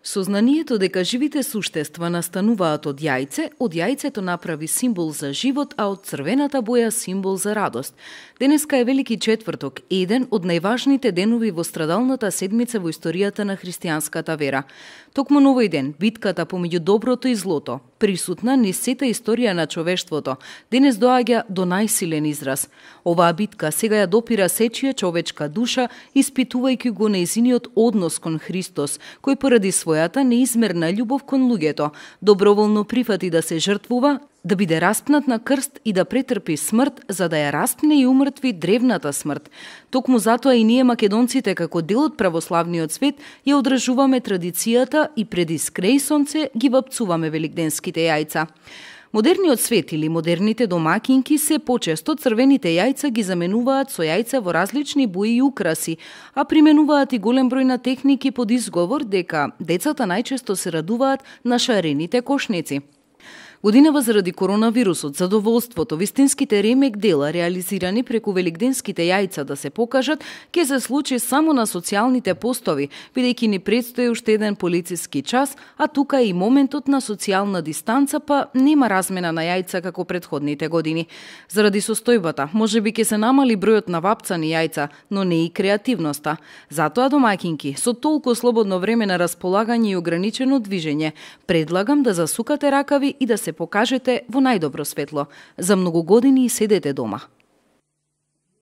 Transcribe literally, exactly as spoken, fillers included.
Сознанието дека живите суштества настануваат од јајце, од јајцето направи символ за живот, а од црвената боја символ за радост. Денеска е Велики четврток, еден од најважните денови во страдалната седмица во историјата на христијанската вера. Токму на овој ден, битката помеѓу доброто и злото, присутна низ сета историја на човештвото, денес доаѓа до најсилен израз. Оваа битка сега ја допира сечија човечка душа, испитувајќи го нејзиниот однос кон Христос, кој поради својата неизмерна љубов кон луѓето, доброволно прифати да се жртвува, да биде распнат на крст и да претрпи смрт, за да ја распне и умртви древната смрт. Токму затоа и ние македонците, како дел од православниот свет, ја одржуваме традицијата и преди скреј сонце ги вапцуваме великденските јајца. Модерниот свет или модерните домакинки се почесто црвените јајца ги заменуваат со јајца во различни бои и украси, а применуваат и голем број на техники под изговор дека децата најчесто се радуваат на шарените кошници. Годинава заради коронавирусот, задоволството, вистинските ремек дела реализирани преку великденските јајца да се покажат, ќе се случи само на социјалните постови, бидејќи ни предстои уште еден полициски час, а тука е и моментот на социјална дистанца, па нема размена на јајца како претходните години. Заради состојбата, можеби ќе се намали бројот на вапцани јајца, но не и креативноста. Затоа, домакинки, со толку слободно време на располагање и ограничено движење, предлагам да засукате ракави и да се покажете во најдобро светло. За многу години седете дома.